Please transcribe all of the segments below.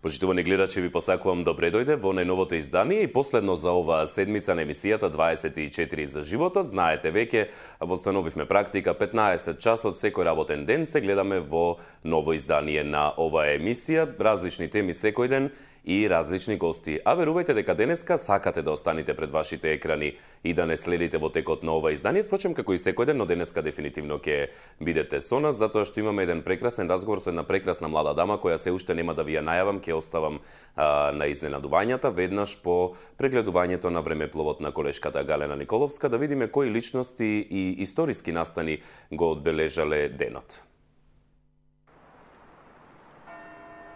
Почитувани гледачи, ви посакувам добре дојде во најновото издание и последно за оваа седмица на емисијата 24 за животот. Знаете, веќе востановивме практика 15 часот секој работен ден се гледаме во ново издание на оваа емисија, различни теми секој ден и различни гости. А верувајте дека денеска сакате да останете пред вашите екрани и да не следите во текот на ова издание, впрочем како и секој ден, но денеска дефинитивно ќе бидете со нас, затоа што имаме еден прекрасен разговор со една прекрасна млада дама која се уште нема да ви ја најавам, ќе оставам на изненадувањата веднаш по прегледувањето на времепловот на колешката Галена Николовска, да видиме кои личности и историски настани го одбележале денот.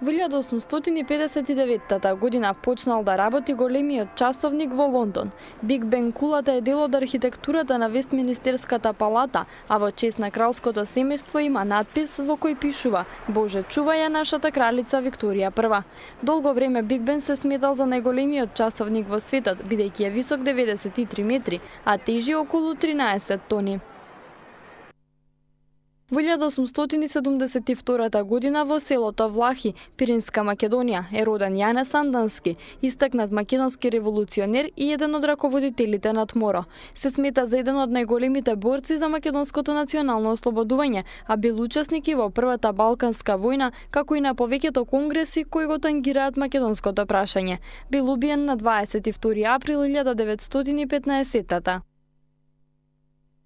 Во 1859 година почнал да работи големиот часовник во Лондон. Биг Бен кулата е дел од архитектурата на Вестминистерската палата, а во чест на кралското семејство има надпис во кој пишува "Боже, чувај ја нашата кралица Викторија I". Долго време Биг Бен се сметал за најголемиот часовник во светот, бидејќи е висок 93 метри, а тежи околу 13 тони. Во 1872 година во селото Влахи, Пиринска Македонија, е роден Јане Сандански, истакнат македонски револуционер и еден од раководителите на ТМОРО. Се смета за еден од најголемите борци за македонското национално ослободување, а бил учесник и во Првата Балканска војна, како и на повеќето конгреси кои го тангираат македонското прашање. Бил убиен на 22 април 1915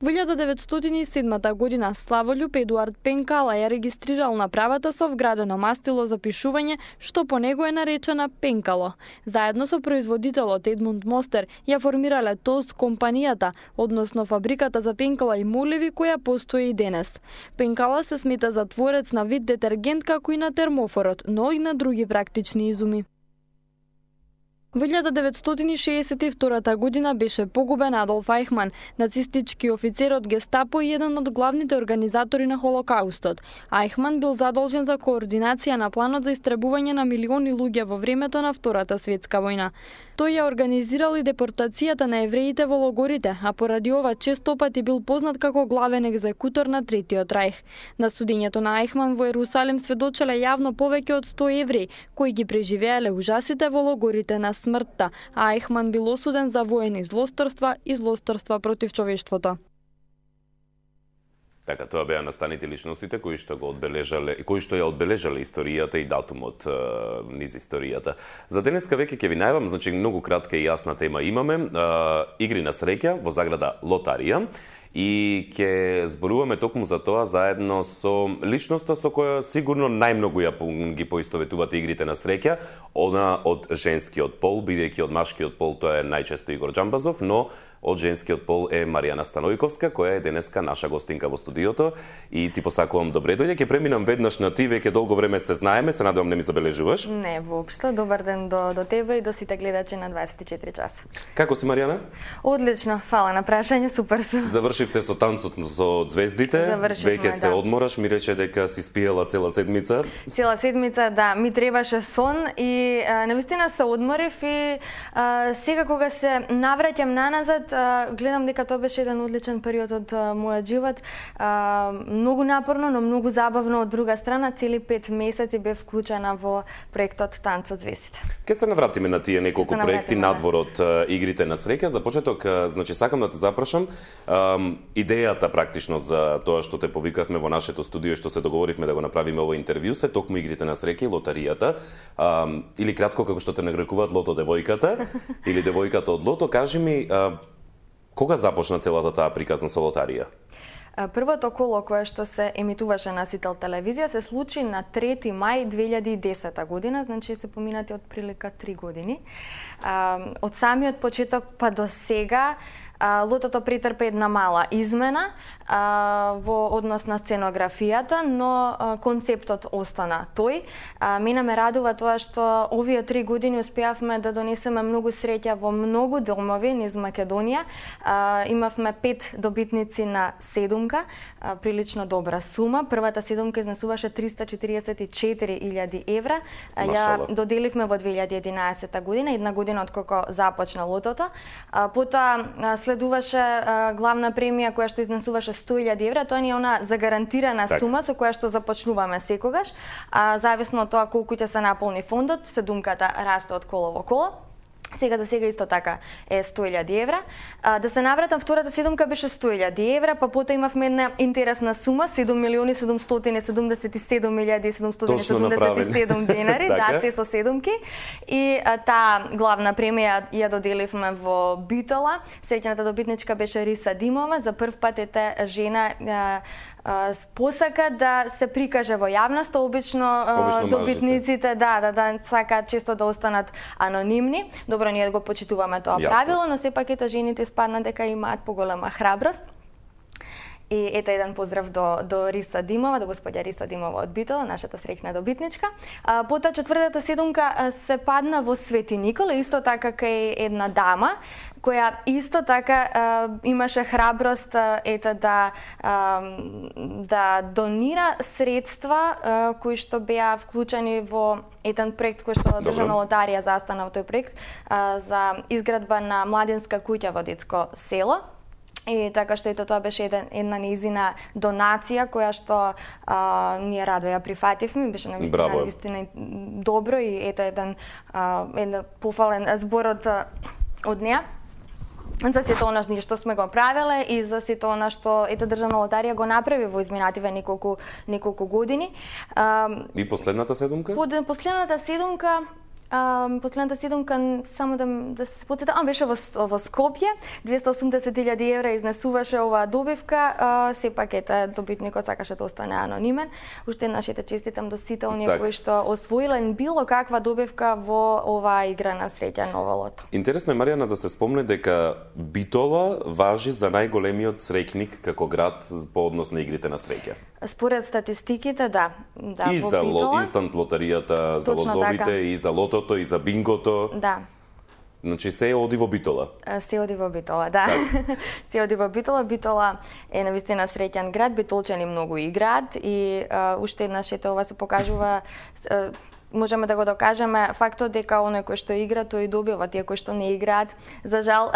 Во 1907 година Славолюб Едуард Пенкала ја регистрирал направата со вградено мастило за пишување, што по него е наречена Пенкало. Заедно со производителот Едмунд Мостер ја формирале ТОЗ компанијата, односно фабриката за пенкала и моливи која постои и денес. Пенкала се смета за творец на вид детергент како и на термофорот, но и на други практични изуми. Во 1962 година беше погубен Адолф Ајхман, нацистички офицер од Гестапо и еден од главните организатори на Холокаустот. Ајхман бил задолжен за координација на планот за истребување на милиони луѓе во времето на Втората светска војна. Тој ја организирал и депортацијата на евреите во логорите, а поради ова често пати бил познат како главен екзекутор на Третиот рајх. На судењето на Ајхман во Ерусалим сведочеле јавно повеќе од 100 евреи, кои ги преживеале ужасите во логорите на смртта, а Ајхман бил осуден за воени злосторства и злосторства против човештвото. Така, тоа беа настаните личностите кои што ја одбележале историјата и датумот низ историјата. За денеска веќе ќе ви најавам, значи многу кратка и јасна тема имаме, игри на среќа во заграда Лотарија. И ќе зборуваме токму за тоа заедно со личноста со која сигурно најмногу ги поистоветувате игрите на среќа, она од женскиот пол, бидејќи од машкиот пол тоа е најчесто Игор Џамбазов, но од женскиот пол е Маријана Станојковска, која е денеска наша гостинка во студиото и ти посакувам добре дојде. Ќе преминам веднаш на ти, веќе долго време се знаеме, се надевам не ми забележуваш. Не, воопшто. Добар ден до тебе и до сите гледачи на 24 часа. Како си, Маријана? Одлично, фала на прашање, супер сум. Завршивте со танцот со звездите, веќе се одмораш, ми рече дека си спиела цела седмица. Цела седмица, да, ми требаше сон и навистина се одморив и сега кога се навраќам наназад, гледам дека тоа беше еден одличен период од мојот живот. Многу напорно, но многу забавно од друга страна. Цели 5 месеци бев вклучена во проектот Танцот звездите. Ке се навратиме на тие неколку проекти надвор од игрите на среќа. За почеток, значи сакам да те запрашам идејата практично за тоа што те повикавме во нашето студио, што се договоривме да го направиме ово интервју, се токму игрите на среќа и лотаријата. Или кратко како што те нарекуваат Лото девојката или девојката од Лото, кажи ми кога започна целата таа приказна со лотарија? Првото коло кое што се емитуваше на Сител телевизија се случи на 3 мај 2010 година, значи се поминати од прилика 3 години. Од самиот почеток па до сега Лотото претрпе една мала измена во однос на сценографијата, но концептот остана тој. Мене ме радува тоа што овие 3 години успеавме да донесеме многу среќа во многу домови низ Македонија. Имавме 5 добитници на седумка, прилично добра сума. Првата седумка изнесуваше 344.000 евра. Ја доделивме во 2011 година, една година откако започна лотото. Потоа одредуваше главна премија која што изнесуваше 100.000 евра, тоа ни е она загарантирана сума со која што започнуваме секогаш, а зависно од тоа колку ќе се наполни фондот, седумката расте од коло во коло. Сега за сега исто така е 100.000 евра. Да се навратам, втората седумка беше 100.000 евра, па потоа имавме една интересна сума, 7.777.777 денари, да, се со седумки. И таа главна премија ја доделивме во Битола. Среќната добитничка беше Риса Димова. За прв пат ете жена посака да се прикаже во јавноста, обично добитниците да сакаат често да останат анонимни. Добро, ние го почитуваме тоа правило, но сепак ете жените спадна дека имаат поголема храброст. И ето еден поздрав до Риса Димова, до господја Риса Димова од Битола, нашата среќна добитничка. Потоа четвртата седумка се падна во Свети Никола, исто така кај една дама, која исто така имаше храброст ето да донира средства кои што беа вклучени во еден проект кој што Државна лотарија застана во тој проект за изградба на младинска куќа во детско село. И така што ето тоа беше една нејзина донација која што ние радо ја прифативме, беше навистина добро и ето еден пофален збор од неа за сето она што сме го правеле и за сето она што ето Државна лотарија го направи во изминативе неколку години. И последната седумка? Последната седумка, само да се подсетам, беше во Скопје, 280.000 евра изнесуваше оваа добивка, сепак ете добитникот сакаше да остане анонимен. Уште еднаш честитам до сите оние кои што освоиле било каква добивка во оваа игра на среќа Ново лото. Интересно е, Маријана, да се спомне дека Битола важи за најголемиот среќник како град по однос на игрите на среќа. Според статистиките, да. И за инстант лотаријата, за лозовите, и за лотото, и за бингото. Да. Значи се оди во Битола. Се оди во Битола, да. Се оди во Битола. Битола е навистина среќен град, битолчани многу играат и уште еднаш ова се покажува, можеме да го докажеме фактот дека оној кој што игра тој добива, тие кои што не играат за жал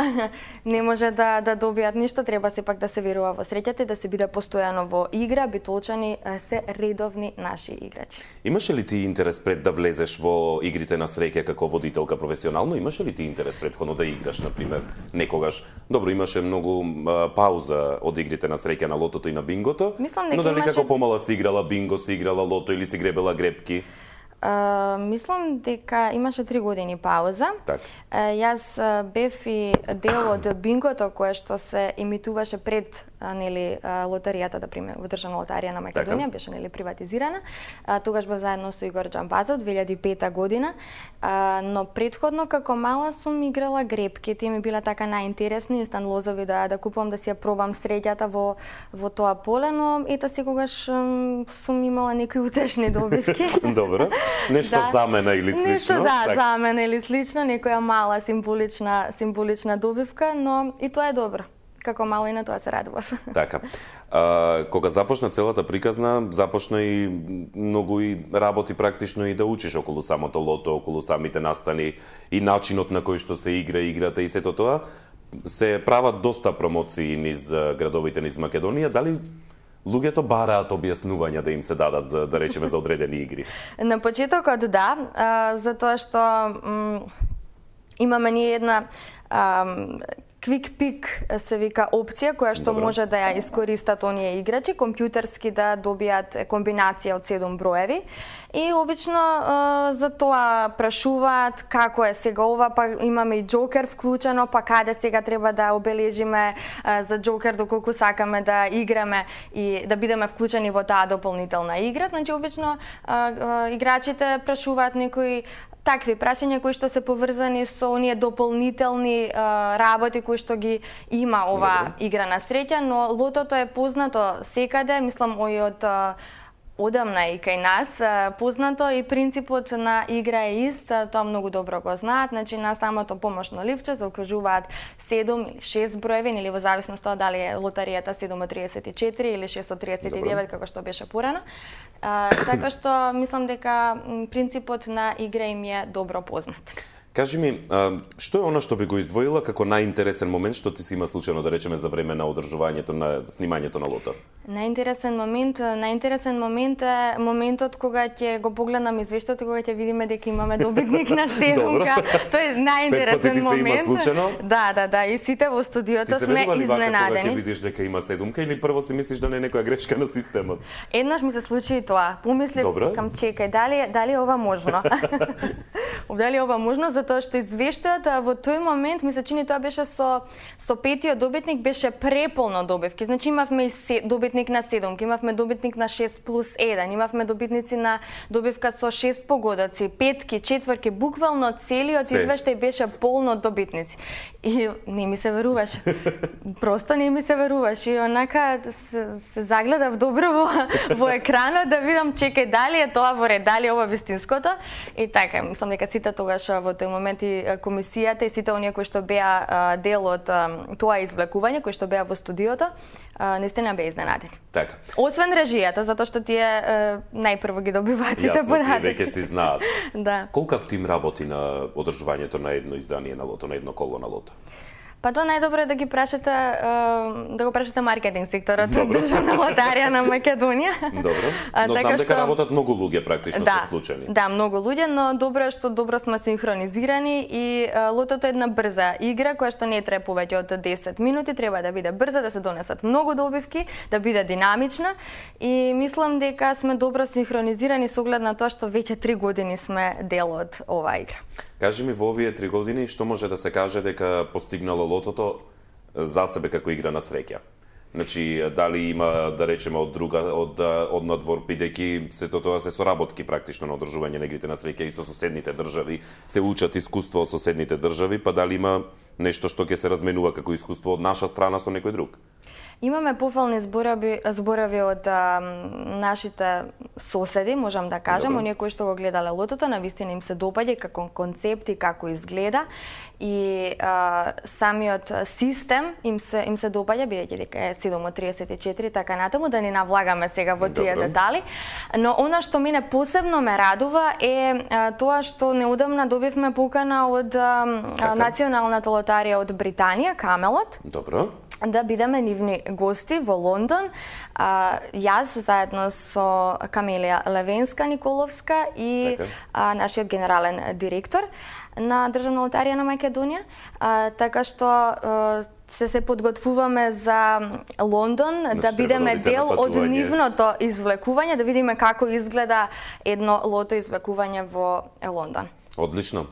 не може да добијат ништо, треба сепак да се верува во среќата и да се биде постојано во игра. Битолчани се редовни наши играчи. Имаше ли ти интерес пред да влезеш во игрите на среќа како водителка професионално? Имаше ли ти интерес претходно да играш, на пример, некогаш? Добро, имаше многу пауза од игрите на среќа на лотото и на бингото, но дали како помала си играла бинго, си играла лото или си гребела гребки? Мислам дека имаше 3 години пауза. Так. Јас бев и дел од бингото кое што се емитуваше пред лотаријата, да пример, во Државна лотарија на Македонија, беше приватизирана. Тогаш бев заедно со Игор Џамбазов 2005 година, но претходно како мала сум играла гребки, тие ми биле така најинтересни, инстант лозови да купувам, да си ја пробам среќата во тоа поле, но ето секогаш сум имала некои утешни добивки. Добро. Нешто замена или слично. Нешто замена или слично, некоја мала символична добивка, но и тоа е добро. Како мало и на тоа се радував. Така. Кога започна целата приказна, започна и многу и работи практично и да учиш околу самото лото, околу самите настани и начинот на кој што се игра играта и сето тоа. Се прават доста промоции низ градовите низ Македонија. Дали луѓето бараат објаснувања да им се дадат за, да речеме, за одредени игри? На почетокот да, затоа што имаме ние една Quick Pick се вика опција која што може да ја искористат оние играчи, компјутерски да добијат комбинација од 7 броеви и обично за тоа прашуваат како е сега ова, па имаме и џокер вклучено, па каде сега треба да обележиме за џокер доколку сакаме да играме и да бидеме вклучени во таа дополнителна игра. Значи обично играчите прашуваат некои такви прашања кои што се поврзани со оние дополнителни работи кои што ги има ова игра на среќа, но лотото е познато секаде, мислам и од одамна и кај нас познато и принципот на игра е ист, тоа многу добро го знаат, значи на самото помошно ливче заокружуваат 7 или 6 броеви, или во зависност од дали е лотаријата 734 или 639 како што беше порано. Така што мислам дека принципот на игра им е добро познат. Кажи ми, што е она што би го издвоила како најинтересен момент што ти си има случајно, да речеме, за време на одржувањето на снимањето на лото? Најинтересен момент е моментот кога ќе го погледнам извештајот и кога ќе видиме дека имаме добитник на седумка. Тоа е најинтересен момент. 5 пати ти се има случајно? Да, и сите во студиото сме изненадени. Кога ќе видиш дека има седумка или прво си мислиш да не е некоја грешка на системот? Еднаш ми се случи и тоа. Помислив, кам чекај, дали е ова можно? Дали е ова можно, затоа што извештајот во тој момент, ми се чини тоа беше со петиот добитник, беше преполно добивки. Значи имавме и добитник на седумки, имавме добитник на 6+1, имавме добитници на добивка со 6 погодоци, петки, четворки, буквално целиот извештај беше полно добитници. И не ми се веруваше. Просто не ми се веруваше. И онака се загледав добро во екранот да видам, чекај, дали е тоа во ред, дали е ова вистинското. И така, мислам дека сите тогаш во тој момент и комисијата и сите оние кои што беа дел од тоа извлекување, кои што беа во студиото, наистина беа изненадени. Така. Освен режијата, затоа што тие најпрво ги добиваат сите податоци. Јасно, тие веќе си знаат. Да. Колкав тим работи на одржувањето на едно издание на лото, на едно коло на лото? Па тоа најдобро е да го прашате маркетинг секторот од Државна лотарија на Македонија. Добро. Но знам дека работат многу луѓе практично се вклучени. Да, многу луѓе, но добро е што добро сме синхронизирани и лотото е една брза игра која што не трае повеќе од 10 минути, треба да биде брза, да се донесат многу добивки, да биде динамична и мислам дека сме добро синхронизирани со оглед на тоа што веќе 3 години сме дел од оваа игра. Кажи ми, во овие 3 години, што може да се каже дека постигнало лотото за себе како игра на среќа? Значи, дали има, да речеме, од надвор, бидејќи сето тоа се соработки практично на одржување на игрите на среќа и со соседните држави, се учат искуство од соседните држави, па дали има нешто што ќе се разменува како искуство од наша страна со некој друг? Имаме пофални зборови од нашите соседи, можам да кажам, оние кои што го гледале лотото, навистина им се допаѓа како концепт и како изгледа и самиот систем им се допаѓа, бидејќи дека е 7:34 така натаму, да не навлагаме сега во тие детали. Но она што мене посебно ме радува е тоа што неодамна добивме покана од Националната лотарија од Британија, Камелот. Добро. Да бидеме нивни гости во Лондон. Јас заедно со Камелија Левенска-Николовска и нашиот генерален директор на Државна лотарија на Македонија. Така што се подготвуваме за Лондон, да бидеме дел од нивното извлекување, да видиме како изгледа едно лото извлекување во Лондон. Одлично.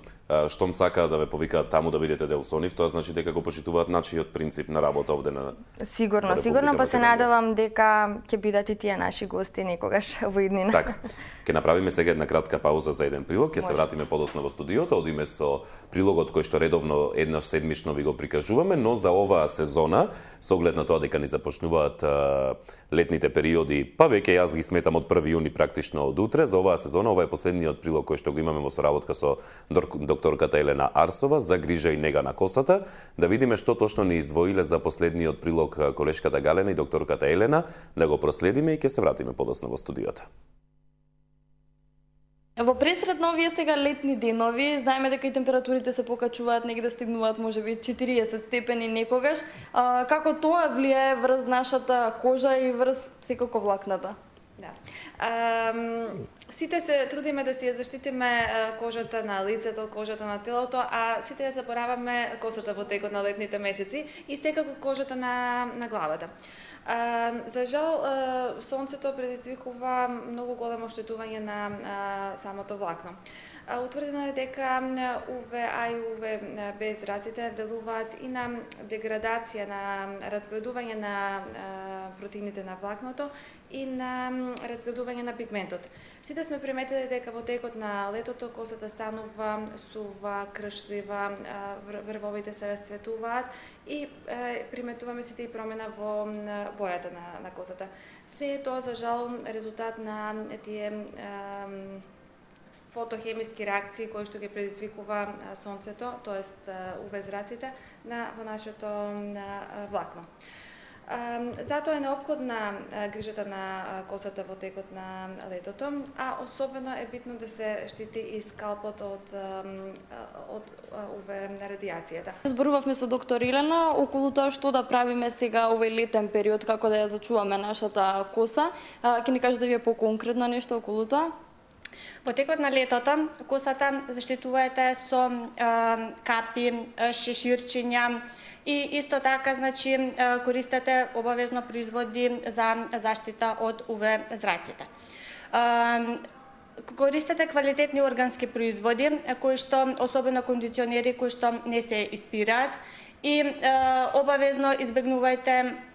Штом сакаат да ве повикаат таму да бидете дел со нив, тоа значи дека го почитуваат начиот принцип на работа овде на Сигурно, па се надевам дека ќе бидат и тие наши гости некогаш во иднина. Така. Ќе направиме сега една кратка пауза за еден прилог, ќе се вратиме подоцна во студиото, одиме со прилогот кој што редовно еднаш седмично ви го прикажуваме, но за оваа сезона, со оглед на тоа дека ни започнуваат летните периоди, па веќе јас ги сметам од 1 јуни практично од утре, за оваа сезона, ова е последниот прилог кој што го имаме во соработка со докторката Елена Арсова за грижа и нега на косата, да видиме што точно ни издвоиле за последниот прилог колешката Галена и докторката Елена, да го проследиме и ќе се вратиме подоцна во студиото. Во пресред на овие сега летни денови, знаеме дека и температурите се покачуваат, негде стигнуваат можеби 40 степени некогаш. Како тоа влијае врз нашата кожа и врз секако влакната? Да. Сите се трудиме да си ја заштитиме кожата на лицето, кожата на телото, а сите ја забораваме косата во текот на летните месеци и секако кожата на главата. За жал, сонцето предизвикува многу големо оштетување на самото влакно. Утврдено е дека УВА и УВБ зраците делуваат и на деградација, на разградување на протеините на влакното и на разградување на пигментот. Сите сме приметили дека во текот на летото косата станува сува, кршлива, врвовите се расцветуваат и приметуваме сите и промена во бојата на косата. Се е тоа за жал резултат на тие фотохемиски реакции кои што ги предизвикува сонцето, тоест УВ зраците во нашето влакно. Затоа е неопходна грижата на косата во текот на летото, а особено е битно да се штити и скалпот од УВ радиацијата. Зборувавме со доктор Илена околу тоа што да правиме сега овој летен период, како да ја зачуваме нашата коса. Ќе ни кажете вие поконкретно нешто околу тоа? Во текот на летото косата заштитувајте со капи, шеширчиња и исто така, значи, користете обавезно производи за заштита од УВ зраците. Користете квалитетни органски производи, кои што, особено кондиционери, кои што не се испираат и обавезно избегнувајте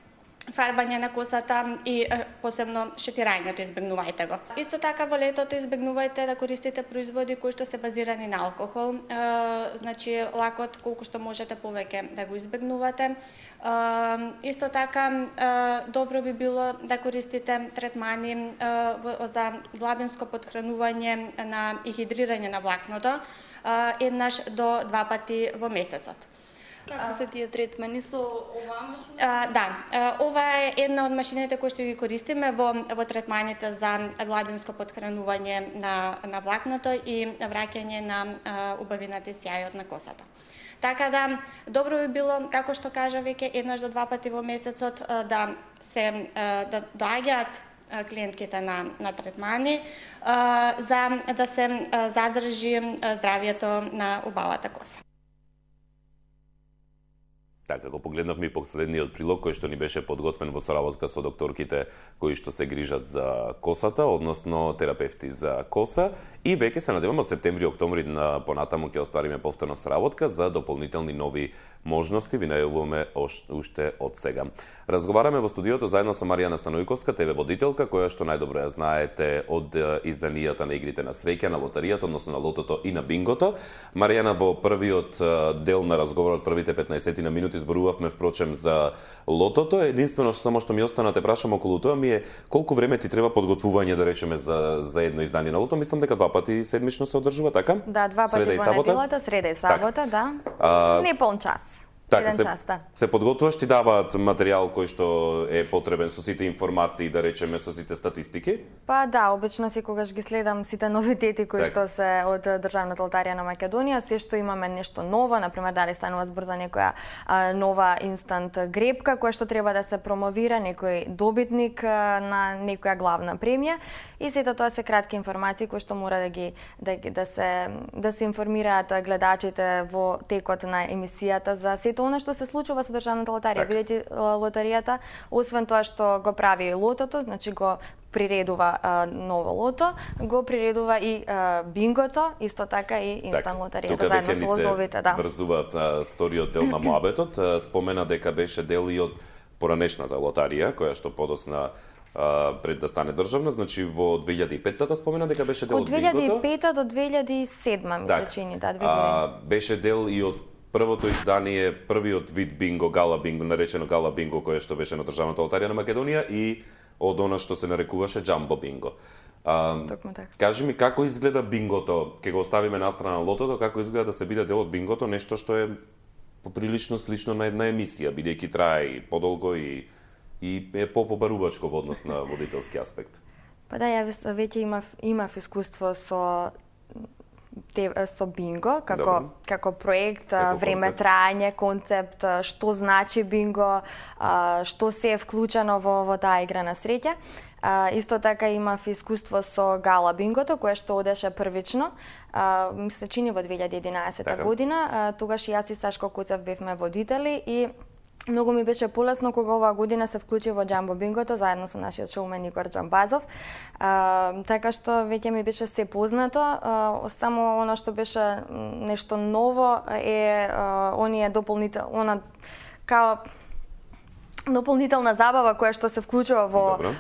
фарбање на косата и посебно шетирањето избегнувајте го. Исто така во летото избегнувајте да користите производи кои што се базирани на алкохол, значи лакот колку што можете повеќе да го избегнувате. Исто така добро би било да користите третмани за глабинско подхранување и хидрирање на влакното еднаш до 2 пати во месецот. Како се тие третмани со оваа машина? Да, ова е една од машините кои што ги користиме во третманите за глабинско подхранување на влакното и враќање на убавината и сјајот на косата. Така да, добро би било, како што кажа веќе, еднаш до 2 пати во месецот да доаѓаат клиентките на третмани за да се задржи здравието на убавата коса. Така, како погледнавме и последниот прилог кој што ни беше подготвен во соработка со докторките кои што се грижат за косата, односно терапевти за коса, и веќе се надеваме од септември-октомври понатаму ќе оствариме повторно соработка за дополнителни нови можности, ви најавуваме уште од сега. Разговараме во студиото заедно со Маријана Станојковска, ТВ водителка, која што најдобро ја знаете од изданијата на игрите на среќа, на лотаријата, односно на лотото и на бингото. Маријана, во првиот дел на разговорот, првите 15 минути зборувавме впрочем за лотото. Единствено само што ми остана те прашам околу тоа ми е колку време ти треба подготвување, да речеме, за едно издание на лото. Мислам дека 2 пати седмично се одржува, така? Да, 2 пати во неделата, среда и сабота, да. Не полн час. Така, се подготвуваш, ти даваат материјал кој што е потребен со сите информации, да речеме, со сите статистики? Па да, обично секогаш ги следам сите новитети кои што се од Државната лотарија на Македонија, се што имаме нешто ново, например дали станува збор за некоја нова инстант грепка која што треба да се промовира, некој добитник на некоја главна премија, и сето тоа се кратки информации кои што мора да се информираат гледачите во текот на емисијата за сето она што се случува со Државната лотарија, бидејќи лотаријата, освен тоа што го прави лотото, значи го приредува ново лото, го приредува и бингото, исто така и инстант лотаријата заедно со лозовите, да. Врзува вториот дел на моабетот, спомена дека беше дел и од поранешната лотарија, која што подосна пред да стане државна, значи во 2005-та спомена дека беше дел од бингото. Од 2005 до 2007 ми се чини, да, 2 години. Беше дел и од првото издание, првиот вид бинго, гала бинго, наречено гала бинго, кое што беше на Државната лотарија на Македонија, и од она што се нарекуваше джамбо бинго. Кажи ми како изгледа бингото, ќе го оставиме настрана лотото, како изгледа да се биде дел од бингото, нешто што е поприлично слично на една емисија, бидејќи трае и подолго и е побарувачко во однос на водителски аспект. Па да, ја веќе имав искуство со бинго, како проект, време траење, концепт, што значи бинго, што се е вклучено во таа игра на среќа. Исто така имав искуство со гала бингото, кое што одеше првично, ми се чини во 2011 година. Тогаш и јас и Сашко Куцев бевме водители и многу ми беше полесно кога оваа година се вклучи во джамбо бингото заедно со нашиот шоумен Игор Джамбазов. Така што веќе ми беше се познато, само она што беше нешто ново е дополнителна забава која што се вклучува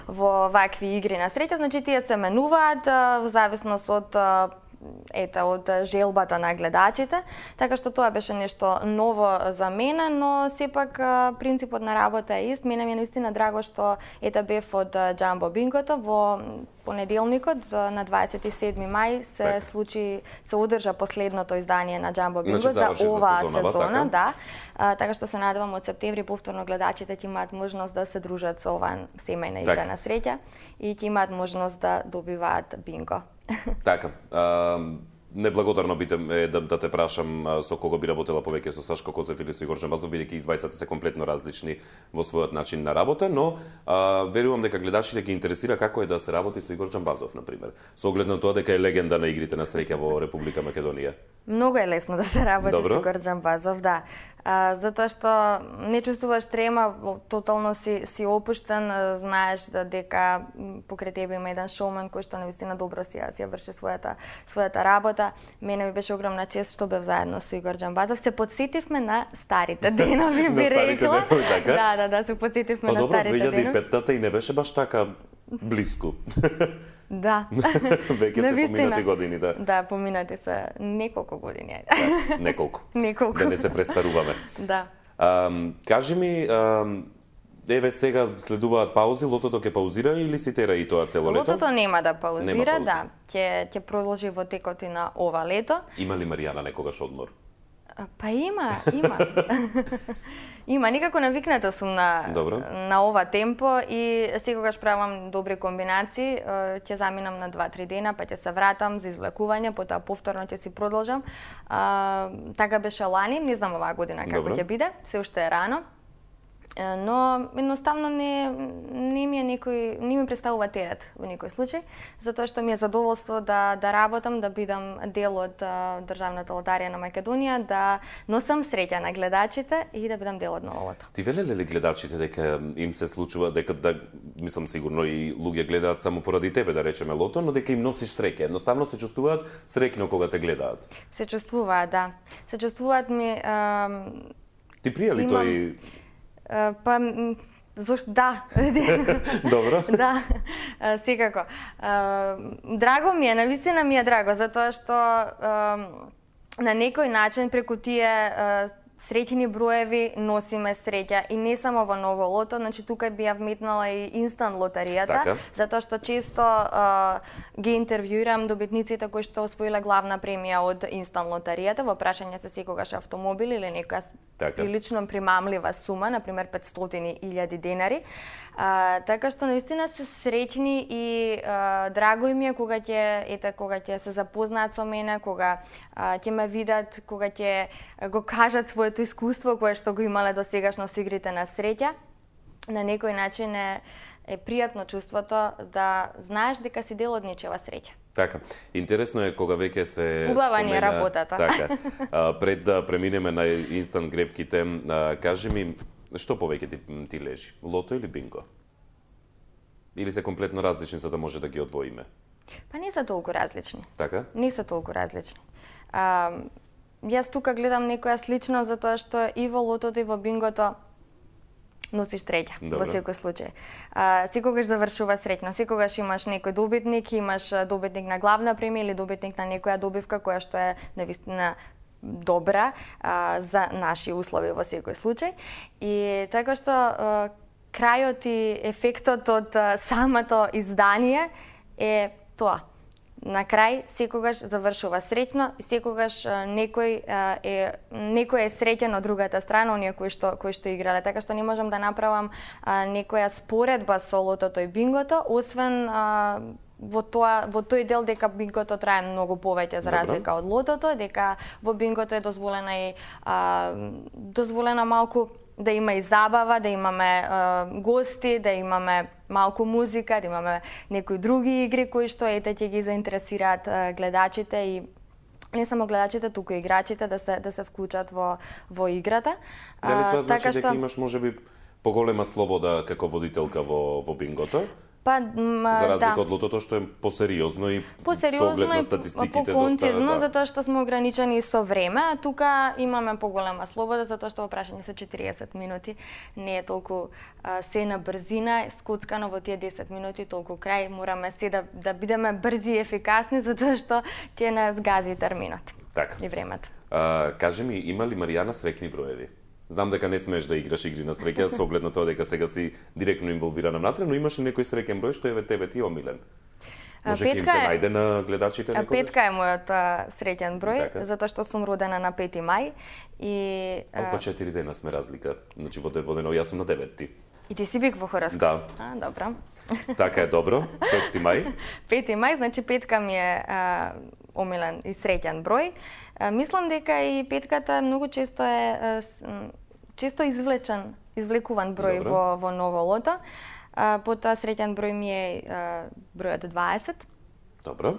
во вакви игри на среќа, значи тие се менуваат во зависност од од желбата на гледачите, така што тоа беше нешто ново за мене, но сепак принципот на работа е ист. Мене ми е наистина драго што бев од Џамбо Бингото во понеделникот на 27 мај се одржа последното издание на Џамбо Бинго за оваа сезона, да. Така што се надевам од септември повторно гледачите ќе имаат можност да се дружат со оваа семејна игра на среќа и ќе имаат можност да добиваат бинго. Така. Неблагодарно е да те прашам со кого би работела повеќе, со Сашко Коцев или со Игор Џамбазов, бидејќи и двајцата се комплетно различни во својот начин на работа, но верувам дека гледачите ги интересира како е да се работи со Игор Џамбазов, например, со оглед на тоа дека е легенда на игрите на среќа во Република Македонија. Многу е лесно да се работи со Игор Џамбазов, да. Затоа што не чувствуваш трема, тотално си опуштен, знаеш дека покрај тебе има еден шоумен кој што навистина добро си ја врши својата работа. Мене ми беше огромна чест што бев заедно со Игор Џамбазов. Се подсетивме на старите денови, би рекла. Да, се подсетивме на старите денови. 2005-та и не беше баш така блиску. Да. Веќе се поминати години, да. Да, поминати се неколку години. Да, неколку. Да не се престаруваме. Да. Кажи ми, еве сега следуваат паузи, лотото ќе паузира или си тера и тоа цело лето? Лотото нема да паузира, да. Ќе продолжи во текот и на ова лето. Има ли Маријана некогаш одмор? Па има. Има, никако навикната сум на ова темпо и секогаш правам добри комбинации. Ќе заминам на 2-3 дена, па ќе се вратам за извлекување, потоа повторно ќе си продолжам. Така беше лани, не знам оваа година како ќе биде, се уште е рано. Но едноставно не ми представува терет во никој случај, затоа што ми е задоволство да работам, да бидам дел од Државната лотарија на Македонија, да носам среќа на гледачите и да бидам дел од новото. Ти велеле ли гледачите дека им се случува дека мислам сигурно и луѓе гледаат само поради тебе, да речеме лото, но дека им носиш среќа, едноставно се чувствуваат среќно кога те гледаат? Се чувствуваат, да. Се чувствуваат ми Ти прија ли тој? Па, зошто да. Добро. Да, секако. Драго ми е, навистина ми е драго, затоа што на некој начин преку тие среќни броеви носиме среќа и не само во ново лото, значи тука би ја вметнала и инстант лотаријата, затоа што често ги интервјуирам добитниците кои што освоиле главна премија од инстант лотаријата, во прашање се секогаш автомобил или некоја прилично примамлива сума, например 500.000 денари. Така што наистина се среќни и драго им е кога ќе се запознаат со мене, кога ќе ме видат, кога ќе го кажат своето искуство кое што го имале досегашно со игрите на среќа. На некој начин е пријатно чувството да знаеш дека си дел од нечева среќа. Така. Интересно е кога веќе се убава ни е работата. Така. Пред да преминеме на инстант грепките, кажи ми што повеќе ти лежи? Лото или бинго? Или се комплетно различни за да може да ги одвоиме? Па не се толку различни. Така? Не се толку различни. Јас тука гледам некоја слично затоа што и во лотото и во бингото носиш среќа во секој случај. Секогаш завршува среќно, секогаш имаш некој добитник, имаш добитник на главна премија или добитник на некоја добивка која што е навистина добра за наши услови во секој случај. И така што крајот и ефектот од самото издание е тоа. На крај секогаш завршува среќно и секогаш некој е среќен од другата страна, оние кои што играле. Така што не можам да направам некоја споредба со лотото и бингото, освен во тој дел дека бингото трае многу повеќе за разлика од лотото, дека во бингото е дозволена малку да има и забава, да имаме гости, да имаме малку музика, да имаме некои други игри кои што ќе ги заинтересираат гледачите и не само гледачите, туку и играчите да се вклучат во играта. Дали тоа значи дека имаш можеби поголема слобода како водителка во бингото? Па, за разлика од лотото што е посериозно и со оглед на статистиките поконцизно, затоа што сме ограничени со време, а тука имаме поголема слобода, затоа што во прашање се 40 минути, не е толку се на брзина, скоцкано во тие 10 минути, толку крај, мораме се да бидеме брзи и ефикасни, затоа што ќе нас гази терминот и времето. Кажи ми, има ли Маријана среќни броеви? Знам дека не смееш да играш игри на среќа, со оглед на тоа дека сега си директно инволвирана внатре, но имаш ли некој среќен број што тебе ти омилен? Може ќе им се најде на гледачите некогаш? Петка е мојот среќен број, затоа што сум родена на 5 мај и Па 4 дена сме разлика. Значи во дено јас сум на 9. И ти си бик во хороскоп? Да. Добро. Така е добро. 5 мај. 5 мај, значи петка ми е омилен и среќен број. Мислам дека и петката многу често е извлекуван број во ново лото. Потоа среќен број ми е бројот 20. Добро.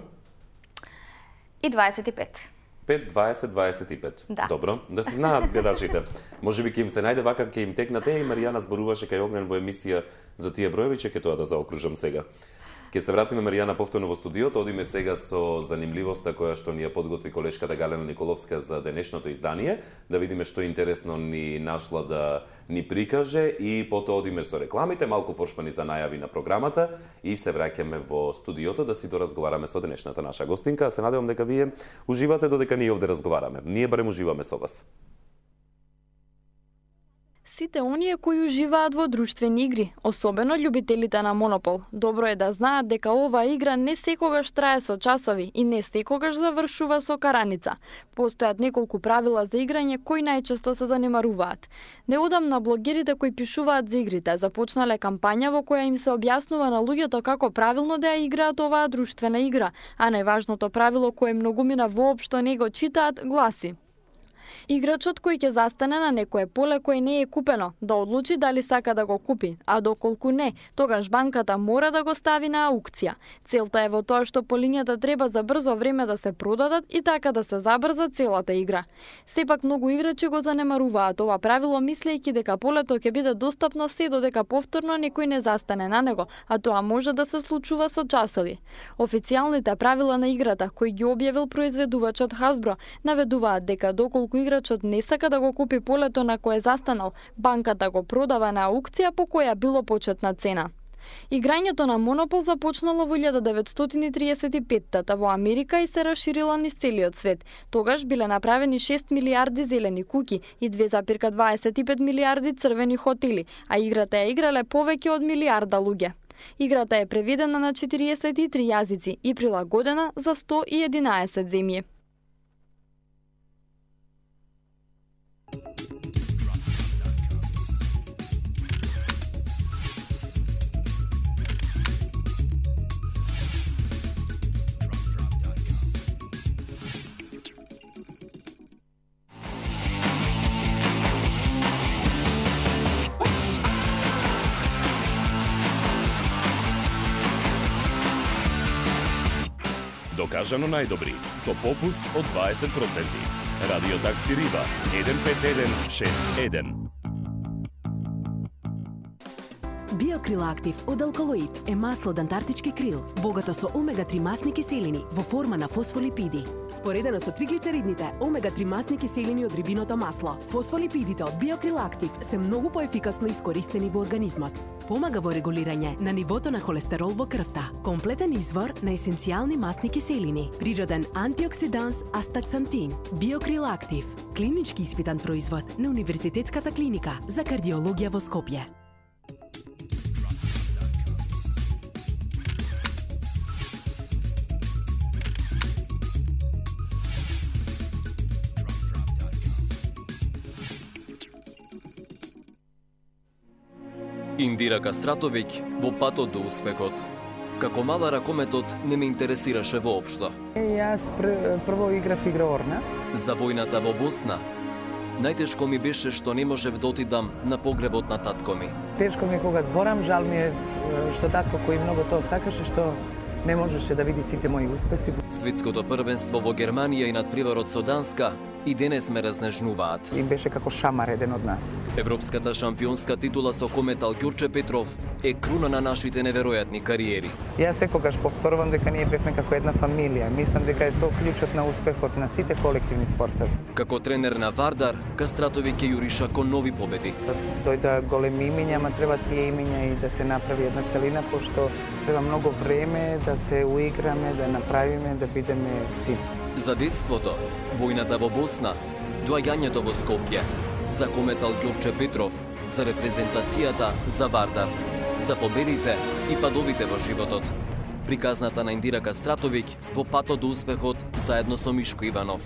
И 25. 5, 20, 25. Да. Добро. Да се знаат гледачите. Можеби ќе им се најде вака, ќе им текнат. И Маријана зборуваше кај Огнен во емисија за тие броеви, ќе тоа да заокружам сега. Ќе се вратиме, Маријана, повторно во студиото. Одиме сега со занимливоста која што ни ја подготви колешката Галена Николовска за денешното издание, да видиме што интересно ни нашла да ни прикаже и потоа одиме со рекламите, малку форшмани за најави на програмата и се враќаме во студиото да си доразговараме со денешната наша гостинка. Се надевам дека вие уживате додека ние овде разговараме. Ние барем уживаме со вас. Сите оние кои уживаат во друштвени игри, особено љубителите на Монопол, добро е да знаат дека оваа игра не секогаш трае со часови и не секогаш завршува со караница. Постојат неколку правила за играње кои најчесто се занемаруваат. Неодамна блогерите кои пишуваат за игрите започнале кампања во која им се објаснува на луѓето како правилно да ја играат оваа друштвена игра, а најважното правило кое многумина воопшто не го читаат гласи: играчот кој ќе застане на некое поле кое не е купено, да одлучи дали сака да го купи, а доколку не, тогаш банката мора да го стави на аукција. Целта е во тоа што полињата треба за брзо време да се продадат и така да се забрза целата игра. Сепак многу играчи го занемаруваат ова правило, мислејќи дека полето ќе биде достапно се додека повторно некој не застане на него, а тоа може да се случува со часови. Официјалните правила на играта, кои ги објавил произведувачот Hasbro, наведуваат дека доколку играчот не сака да го купи полето на кое застанал, банката го продава на аукција по која било почетна цена. Играњето на Монопол започнало во 1935-та во Америка и се расширила низ целиот свет. Тогаш биле направени 6 милиарди зелени куќи и 2,25 милиарди црвени хотели, а играта ја играле повеќе од милиарда луѓе. Играта е преведена на 43 јазици и прилагодена за 111 земји. Докажано најдобри, со попуст од 20%. Радио такси Рива, 15161. Биокрил Актив од алкалоид е масло од антарктички крил, богато со омега-3 масни киселини во форма на фосфолипиди. Споредено со триглицеридните, омега-3 масни киселини од рибиното масло, фосфолипидите од Биокрил Актив се многу поефикасно искористени во организмот. Помага во регулирање на нивото на холестерол во крвта. Комплетен извор на есенцијални масни киселини. Природен антиоксиданс астаксантин. Биокрил Актив. Клинички испитан производ на Универзитетската клиника за кардиологија во Скопје. Индира Кастратовиќ во патот до успехот. Како мала ракометот не ме интересираше воопшто. Јас прво играв игра Орна. За војната во Босна. Најтешко ми беше што не можев да отидам на погребот на татко ми. Тешко ми е кога зборам, жал ми е што татко кој многу тоа сакаше, што не можеше да види сите мои успеси. Светското првенство во Германија и надпреварот со Данска и денес ме разнежнуваат. Им беше како шамар еден од нас. Европската шампионска титула со кометал Ѓурче Петров е круна на нашите неверојатни кариери. Јас секогаш повторувам дека ние бевме како една фамилија. Мислам дека е тоа клучот на успехот на сите колективни спортови. Како тренер на Вардар, Кастратовиќ ќе јуриша кон нови победи. Дојда големи имиња, ама треба тие имиња и да се направи една целина, пошто треба многу време да се уиграме, да направиме, да бидеме тим. За детството, војната во Босна, доаѓањето во Скопје, за кометал Ѓурче Петров, за репрезентацијата за Вардар, за победите и падовите во животот. Приказната на Индира Кастратовиќ во патот до успехот заедно со Мишко Иванов.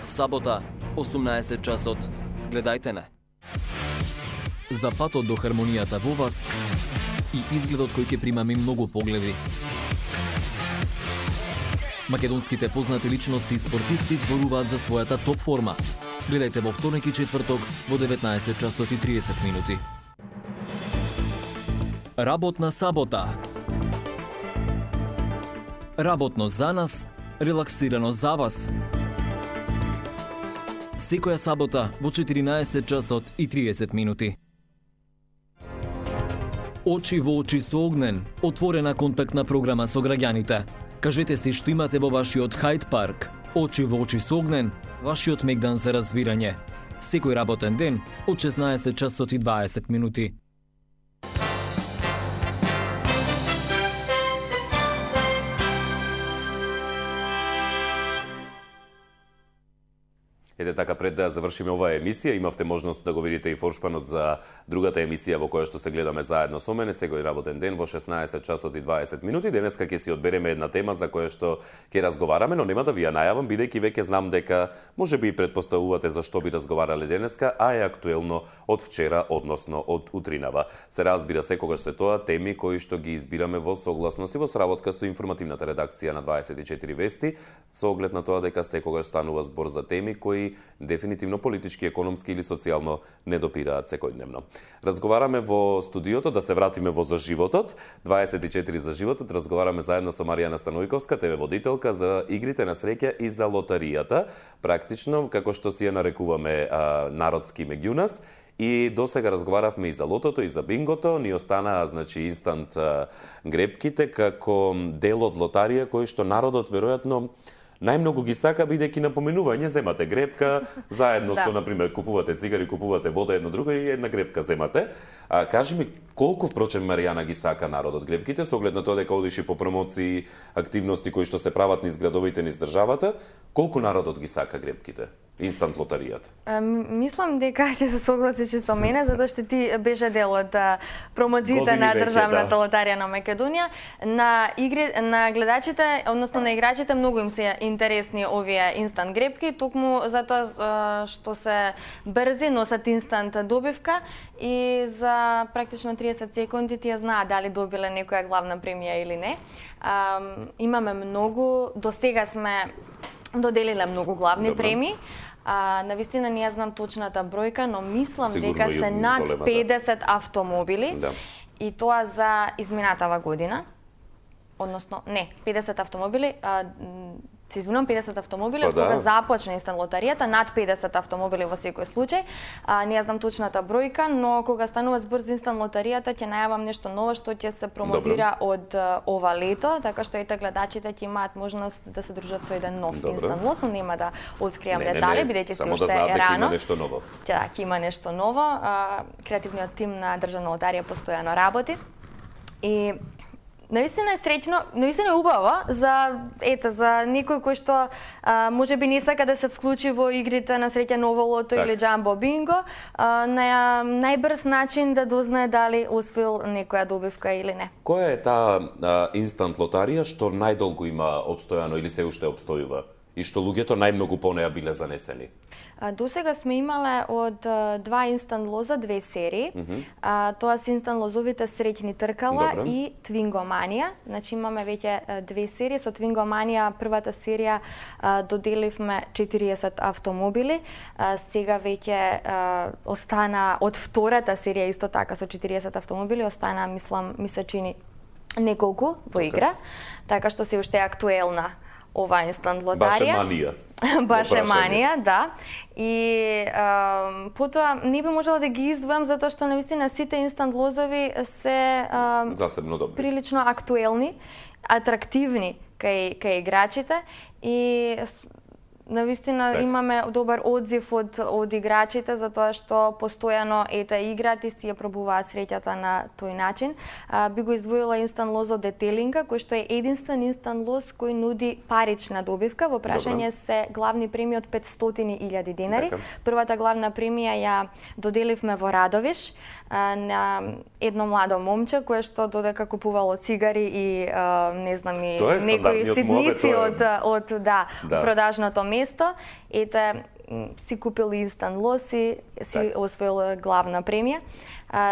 Сабота, 18 часот. Гледајте не. За патот до хармонијата во вас и изгледот кој ќе примаме многу погледи. Македонските познати личности и спортисти зборуваат за својата топ форма. Гледајте во вторник и четврток во 19 часот и 30 минути. Работна сабота. Работно за нас, релаксирано за вас. Секоја сабота во 14 часот и 30 минути. Очи во очи со Огнен, отворена контактна програма со граѓаните. Кажете си што имате во вашиот Хајд парк. Очи во очи со Огнен, вашиот мегдан за разбирање. Секој работен ден од 16 часот и 20 минути. Ете така, пред да завршиме оваа емисија, имавте можност да го видите и форшпанот за другата емисија во која што се гледаме заедно со мене секој работен ден во 16 часот и 20 минути. Денеска ќе си одбереме една тема за која што ќе разговараме, но нема да ви ја најавам, бидејќи веќе знам дека можеби и предпоставувате за што би разговарале денеска, а е актуелно од вчера, односно од утринава. Се разбира, секогаш се тоа теми кои што ги избираме во согласност и во сработка со информативната редакција на 24 вести, со оглед на тоа дека секогаш станува збор за теми кои дефинитивно политички, економски или социјално не допираат секојдневно. Разговараме во студиото, да се вратиме во За животот, 24 за животот, разговараме заедно со Маријана Станојковска, ТВ водителка, за игрите на среќа и за лотаријата, практично, како што си ја нарекуваме народски меѓу нас. И досега разговаравме и за лотото, и за бингото, ни останаа, значи, инстант грепките, како дел од лотарија, кој што народот, веројатно, најмногу ги сака, бидејќи напоменување, земате грепка, заедно со, например, купувате цигари, купувате вода, едно друго и една грепка земате. Кажи ми, колку, впрочем, Маријана, ги сака народот грепките, со оглед на тоа дека одиш и по промоции, активности кои што се прават низ градовите, низ државата, колку народот ги сака грепките? Инстант лотаријата? Мислам дека ќе се согласиш и со мене, затоа што ти беше дел од промоциите на државната лотарија на Македонија. На гледачите, односно на играчите, многу им се интересни овие инстант грепки, токму затоа што се брзи, носат инстант добивка и за практично 30 секунди тие знаат дали добиле некоја главна премија или не. Имаме многу, до сега сме доделиле многу главни премии. Навистина не знам точната бројка, но мислам дека се над 50 автомобили. И тоа за изминатава година. Односно, не, 50 автомобили, се извинувам, 50 автомобили, кога започна инстант лотаријата, над 50 автомобили во секој случај. Не знам точната бројка, но кога станува збор за инстант лотаријата, ќе најавам нешто ново што ќе се промовира од ова лето, така што ете гледачите ќе имаат можност да се дружат со еден нов инстант лот, но нема да откријам детали, бидејќи се уште е рано. Да, ќе има нешто ново. Креативниот тим на Државна лотарија постојано работи. И наистина е среќно, наистина е убаво за некој кој што можеби не сака да се вклучи во игрите на среќа ново лото или џамбо бинго, на најбрз начин да дознае дали освоил некоја добивка или не. Која е таа инстант лотарија што најдолго има обстојано или се уште обстојува и што луѓето најмногу по неа биле занесени? Досега сме имале од 2 инстант лоза 2 серии. Тоа се инстант лозовите среќни тркала и Твингоманија. Значи имаме веќе 2 серии. Со Твингоманија првата серија доделивме 40 автомобили. Сега веќе остана од втората серија исто така со 40 автомобили, остана, мислам, ми се чини неколку во игра, така што се уште е актуелна ова инстант лотарија. Баше манија. Баше манија, да. И потоа не би можела да ги издвојам затоа што навистина сите инстант лозови се засебно добри. Прилично актуелни, атрактивни кај играчите и навистина имаме добар одзив од играчите за тоа што постојано играат и си ја пробуваат среќата на тој начин. Би го издвоила инстант лозо Детелинка, кој што е единствен инстант лоз кој нуди парична добивка. Во прашање се главни премии од 500.000 денари. Првата главна премија ја доделивме во Радовиш на едно младо момче кое што додека купувало цигари и не знам и некои ситници од продажното место, си купил инстант лоз и си освоил главна премија.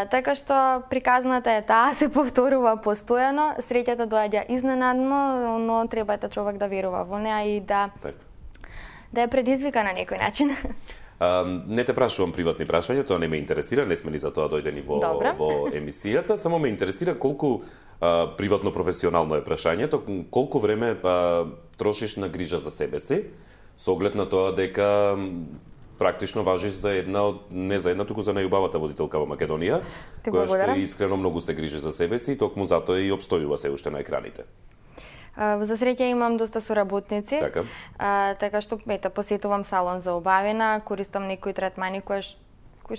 Така што приказната е таа, се повторува постојано, среќата доаѓа изненадно, но треба човек да верува во неа и да ја предизвика на некој начин. Не те прашувам приватни прашања, тоа не ме интересира, не сме ни за тоа дојдени во емисијата, само ме интересира колку приватно професионално е прашањето, колку време трошиш на грижа за себе си, со оглед на тоа дека практично важиш за не за една, туку за најубавата водителка во Македонија, која што искрено многу се грижи за себе си и токму затоа и обстојува се уште на екраните. За среќа имам доста соработници, така што посетувам салон за убавина, користам некои третмани кои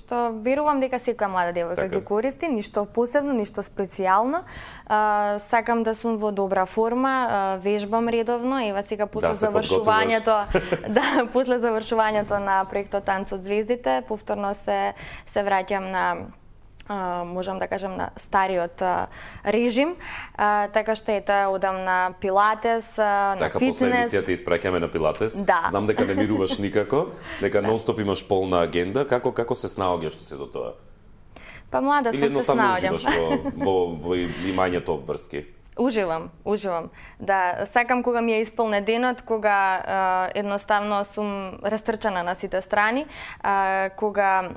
што верувам дека секоја млада девојка ги користи, ништо посебно, ништо специјално. Сакам да сум во добра форма, вежбам редовно, ева сега после завршувањето на проектот Танц од звездите, повторно се враќам на можам да кажам на стариот режим, така што одам на пилатес, на фитнес. Така после емисијата испраќаме на пилатес. Знам дека не мируваш никако, дека нонстоп имаш полна агенда. Како се снаоѓаш се до тоа? Па млада сум се снаоѓам. Или едноставно уживаш во имањето обврски? Уживам. Да, сакам кога ми е исполнет денот, кога едноставно сум растрчана на сите страни, кога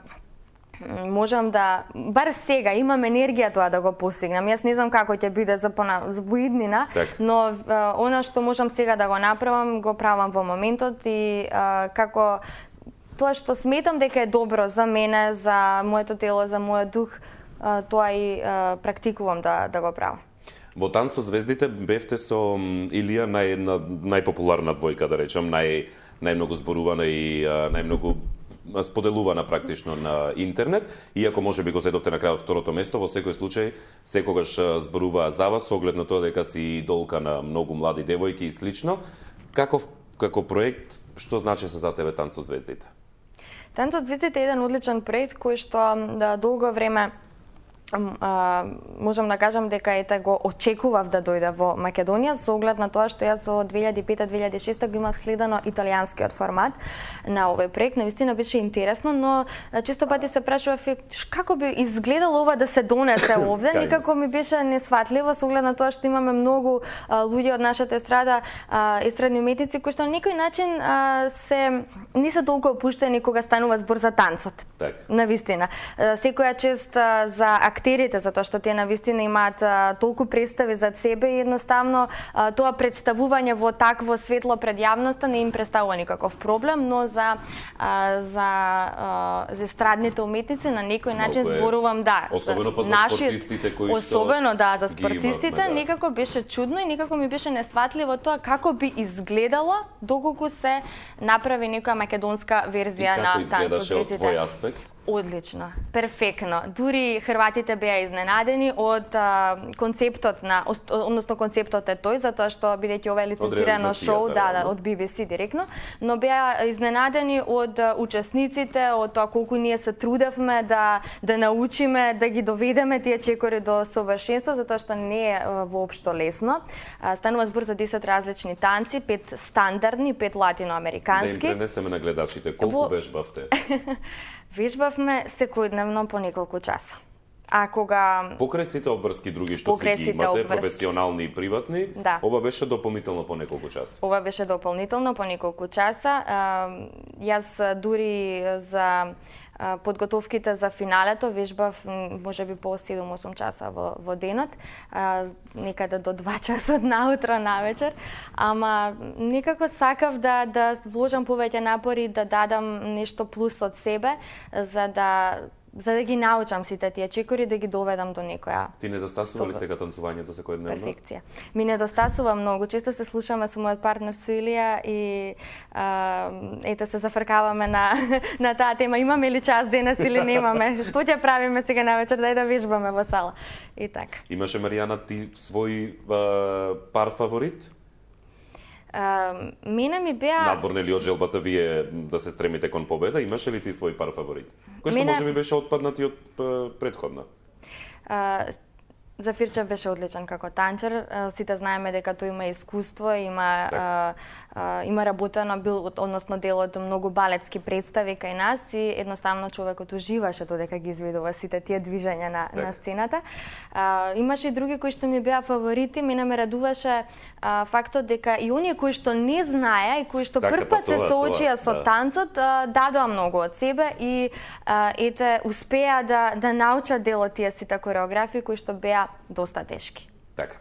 можам да, бар сега имам енергија тоа да го постигнам. Јас не знам како ќе биде за во иднина, но она што можам сега да го направам, го правам во моментот и како тоа што сметам дека е добро за мене, за моето тело, за мојот дух, тоа и практикувам да го правам. Во Танц од звездите бевте со Илија најпопуларна двојка, да речам, најмногу зборувана и најмногу споделувана практично на интернет, иако можеби го зедовте на крајот второто место, во секој случај секогаш зборуваа за вас, со оглед на тоа дека си идолка на многу млади девојки и слично. Како проект, што значи за тебе Танц од звездите? Танц од звездите е еден одличен проект кој што долго време можам да кажам дека го очекував да дојде во Македонија, со оглед на тоа што јас во 2005-2006 го имав следено италијанскиот формат на овој проект. Навистина беше интересно, но често пати се прашував како би изгледало ова да се донесе овде, некако ми беше несватливо со оглед на тоа што имаме многу луѓе од нашата естрада, естрадни уметници кои што на некој начин не се толку опуштени кога станува збор за танцот. Навистина. Секоја чест за актерите, затоа што тие навистина имаат толку представи зад себе и едноставно тоа представување во такво светло пред јавноста не им представува никаков проблем, но за естрадните уметници на некој начин зборувам особено за спортистите кои што за спортистите некако беше чудно и некако ми беше несватливо тоа како би изгледало доколку се направи некоја македонска верзија на Танц од звездите. И како изгледаше од твој аспект? Одлично, перфектно. Дури хрватите беа изненадени од концептот концептот е тој, затоа што бидејќи ова е лицензирано шоу, од BBC директно, но беа изненадени од учесниците, од тоа колку ние се трудевме да научиме, да ги доведеме тие чекори до совршенство, затоа што не е воопшто лесно. Станува збор за 10 различни танци, 5 стандардни, 5 латиноамерикански. Да им пренесеме на гледачите, колку вежбавте? Вежбавме секојдневно по неколку часа. А кога покрај сите обврски други што си ги имате, професионални и приватни, ова беше дополнително по неколку часа. Ова беше дополнително по неколку часа. Јас дури за подготовките за финалето, вежбав можеби по 7-8 часа во денот, некаде до 2 часа наутро навечер, ама некако сакав да вложам повеќе напори, да дадам нешто плюс од себе, за да ги научам сите тие чекори, да ги доведам до некоја... Ти недостасува ли сега танцувањето секојдневно? Перфекција. Ми недостасува многу. Често се слушаме со мојот партнер со Илија и ете се зафркаваме на таа тема. Имаме ли час денес или немаме? Што ќе правиме сега навечер, дај да вежбаме во сала. И така. Имаше, Маријана, ти свој пар фаворит? Мене ми беа... Надворно ли од желбата вие да се стремите кон победа, имаше ли ти свој пар фаворит? Кој што може би беше отпаднати од предходна? Зафирчев беше одличен како танчер. Сите знаеме дека тој има искуство, има работено, односно дел од многу балетски представи кај нас и едноставно човекот уживаше додека ги изведува сите тие движења на сцената. Имаше и други кои што ми беа фаворити. Мене ме радуваше фактот дека и оние кои што не знаеа и кои што првпат се соочија со танцот, дадоа многу од себе и успеа да научат дел од тие сите кореографии кои што беа доста тешки. Така.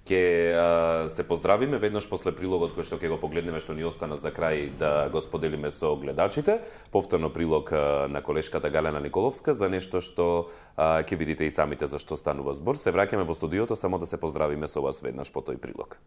Ќе се поздравиме веднаш после прилогот кој што ќе го погледнеме, што ни остана за крај да го споделиме со гледачите. Повторно прилог на колешката Галена Николовска за нешто што ќе видите и самите за што станува збор. Се враќаме во студиото само да се поздравиме со вас веднаш по тој прилог.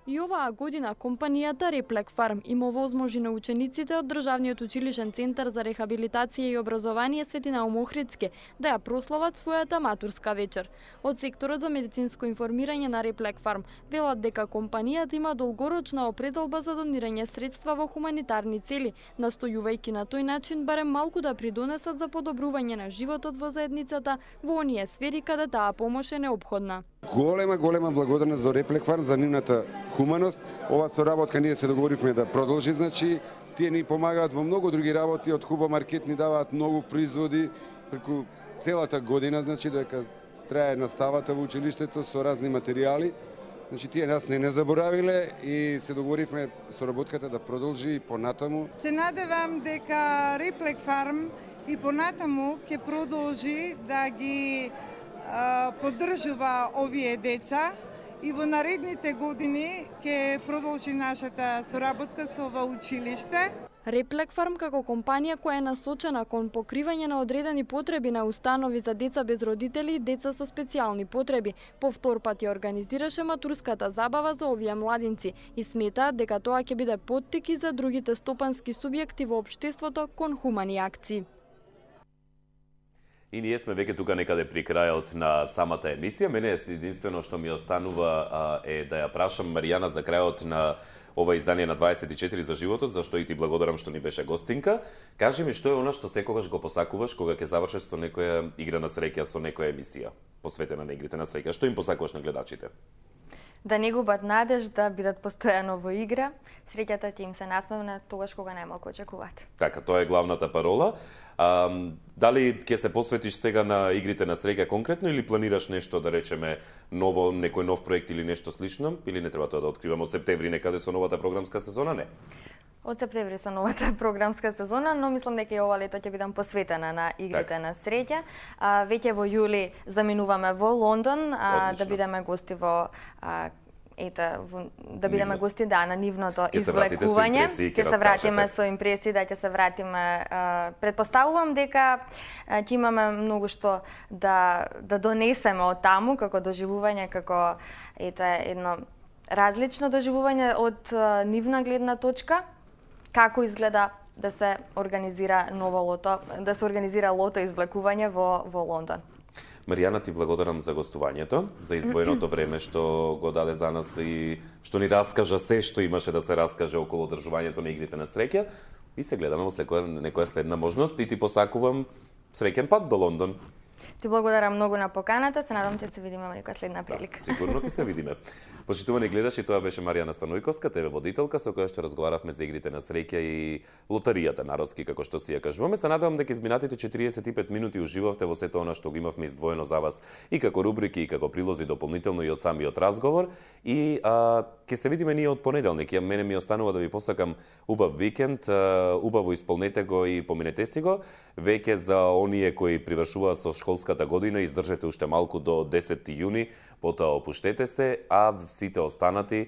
И оваа година компанијата Реплек Фарм им овозможи на учениците од Државниот училишен центар за рехабилитација и образование Свети Наум Охридски да ја прослават својата матурска вечер. Од секторот за медицинско информирање на Реплек Фарм велат дека компанијата има долгорочна определба за донирање средства во хуманитарни цели, настојувајќи на тој начин барем малку да придонесат за подобрување на животот во заедницата во оние сфери каде таа помош е неопходна. Голема благодарност до Реплек Фарм за нивната хуманост. Ова соработка ние се договоривме да продолжи, значи тие ни помагаат во многу други работи, од Хуба Маркет ни даваат многу производи преку целата година, значи дека трае наставата во училиштето со разни материјали. Значи тие нас не заборавиле и се договоривме соработката да продолжи и понатаму. Се надевам дека Реплек Фарм и понатаму ќе продолжи да ги поддржува овие деца и во наредните години ќе продолжи нашата соработка со ова училиште. Реплек Фарм како компанија која е насочена кон покривање на одредени потреби на установи за деца без родители и деца со специјални потреби, повтор пат ја организираше матурската забава за овие младинци и сметаат дека тоа ќе биде поттик и за другите стопански субјекти во општеството кон хумани акции. И ние сме веќе тука некаде при крајот на самата емисија. Мене единствено што ми останува е да ја прашам Маријана за крајот на ова издание на 24 за животот, зашто и ти благодарам што ни беше гостинка. Кажи ми што е она што секогаш го посакуваш кога ќе завршиш со некоја игра на среќа, со некоја емисија посветена на игрите на среќа. Што им посакуваш на гледачите? Да не губат надеж, да бидат постојано во игра. Среќата ти им се насмевна тогаш кога најмалку очекуваат. Така, тоа е главната парола. Дали ќе се посветиш сега на игрите на среќа конкретно или планираш нешто, да речеме, ново, некој нов проект или нешто слично? Или не треба тоа да откриваме од септември некаде со новата програмска сезона? Не. Од септември со новата програмска сезона, но мислам дека и ова лето ќе бидам посветена на игрите на среќа. Веќе во јули заминуваме во Лондон, да бидеме гости да бидеме гости на нивното извлекување. Ќе се вратиме со импресии, ќе се вратиме. Предпоставувам дека ќе имаме многу што да донесеме од таму како доживување, како едно различно доживување од нивна гледна точка. Како изгледа да се организира ново лото, да се организира лото извлекување во Лондон. Маријана, ти благодарам за гостувањето, за издвоеното време што го даде за нас и што ни раскажа се што имаше да се раскаже околу одржувањето на игрите на среќа. И се гледаме во некоја следна можност и ти посакувам среќен пат до Лондон. Ти благодарам многу на поканата, се надам ќе се видиме во некоја следна прилика. Да, сигурно ќе се видиме. Почитувани гледачи, тоа беше Маријана Станојковска, ТВ водителка, со која што разговаравме за игрите на среќа и лотаријата народски, како што си ја кажуваме. Се надевам дека изминатите 45 минути уживавте во сето она што го имавме издвоено за вас и како рубрики, и како прилози дополнително и од самиот разговор. И ќе се видиме ние од понеделник. Мене ми останува да ви посакам убав викенд, убаво исполнете го и поминете си го. Веќе за оние кои привршуваат со школската година, издржете уште малку до 10 јуни, потоа опуштете се, а сите останати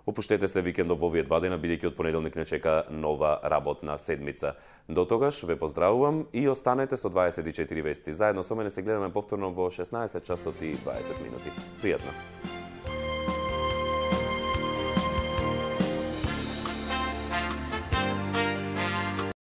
опуштете се викендов во овие 2 дена, бидејќи од понеделник не чека нова работна седмица. До тогаш ве поздравувам и останете со 24 вести. Заедно со мене се гледаме повторно во 16 часот и 20 минути. Пријатно!